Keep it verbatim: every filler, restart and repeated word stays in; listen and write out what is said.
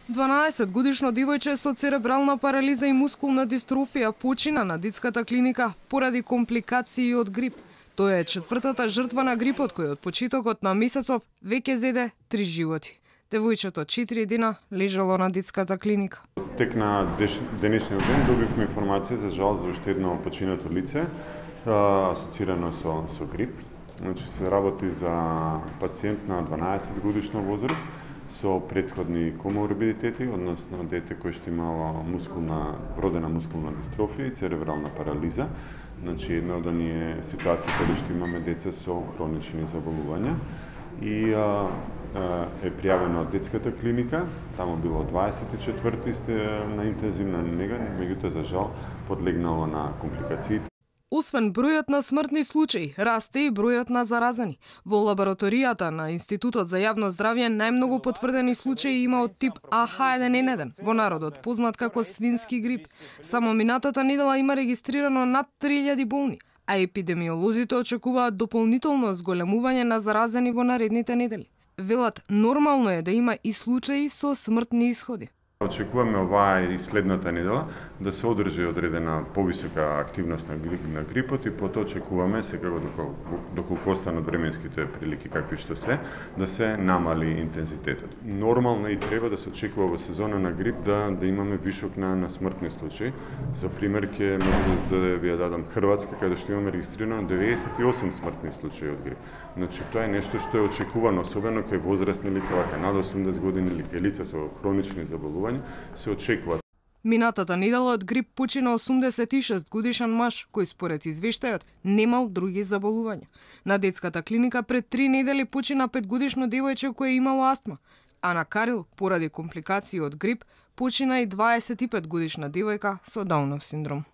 дванаесет годишно девојче со церебрална парализа и мускулна дистрофија почина на детската клиника поради компликации од грип. Тоа е четвртата жртва на грипот кој од почетокот на месецов веќе зеде три животи. Девојчето четири дена лежало на детската клиника. Тек на денешниот ден добивме информација за жал за уште едно починато лице асоцирано со со грип. Значи се работи за пациент на дванаесет годишна возраст со претходни коморбидитети, односно дете кој што имало мускулна вродена мускулна дистрофија и церебрална парализа. Значи една од оние ситуации каде што имаме деца со хронични заболувања и а, а, е пријавено од детската клиника. Таму било дваесет и четврти сте на интензивна нега, меѓутоа за жал подлегнало на компликации. Освен бројот на смртни случаи, расте и бројот на заразени. Во лабораторијата на Институтот за јавно здравје најмногу потврдени случаи има од тип А Х еден ен еден, во народот познат како свински грип. Само минатата недела има регистрирано над три илјади болни, а епидемиолозите очекуваат дополнително зголемување на заразени во наредните недели. Велат, нормално е да има и случаи со смртни исходи. Очекуваме оваа и следната недела да се одржи одредена повисока активност на, грип, на грипот и потоа очекуваме секако доколку, доколку останат временските прилики какви што се, да се намали интензитетот. Нормално и треба да се очекува во сезона на грип да да имаме вишок на на смртни случаи. За пример ќе можам да, да ви ја дадам Хрватска, каде што имаме регистрирано деветдесет и осум смртни случаи од грип. Значи тоа е нешто што е очекувано, особено кај возрастни лица, вака над осумдесет години или кај лица со хронични заболувања, се очекува. Минатата недела од грип почина осумдесет и шест годишен маж, кој според извештајот немал други заболувања. На детската клиника пред три недели почина петгодишно девојче кое имало астма, а на Карил, поради компликации од грип, почина и дваесет и пет годишна девојка со Даунов синдром.